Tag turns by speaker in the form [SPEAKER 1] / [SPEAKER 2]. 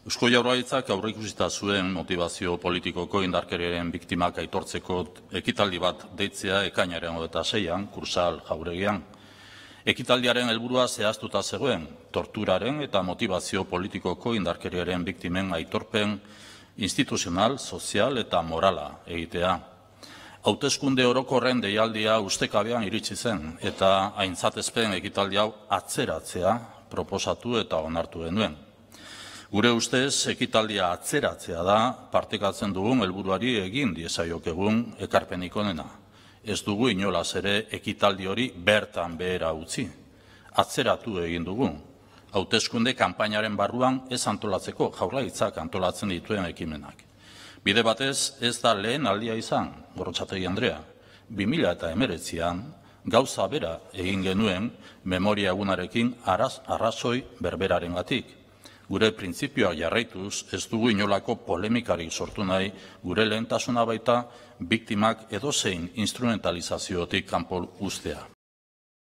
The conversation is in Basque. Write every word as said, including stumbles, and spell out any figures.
[SPEAKER 1] Eusko Jaurlaritzak aurreikusita zuen motivazio politikoko indarkeriaren biktimak aitortzeko ekitaldi bat deitzea ekainaren hogeita seian, Kursal Jauregian. Ekitaldiaren helburua zehaztuta zegoen, torturaren eta motivazio politikoko indarkeriaren biktimen aitorpen instituzional, sozial eta morala egitea. Hauteskunde orokorren deialdia ustekabean iritsi zen eta aintzatezpen ekitaldi hau atzeratzea proposatu eta onartu genuen. Gure ustez, ekitaldia atzeratzea da partekatzen dugun helburuari egin diezaiokegun ekarpenik onena. Ez dugu inolaz ere ekitaldi hori bertan behera utzi. Atzeratu egin dugu. Hauteskunde kanpainaren barruan ez antolatzeko Jaurlaritzak antolatzen dituen ekimenak. Bide batez ez da lehen aldia izan, Gorrotxategi Andrea. bi mila hemeretzian gauza bera egin genuen memoria egunarekin araz, arrazoi berberarengatik. Gure printzipioak jarraituz ez dugu inolako polemikarik sortu nahi, gure lehentasuna baita biktimak edozein instrumentalizaziotik kanpo uztea.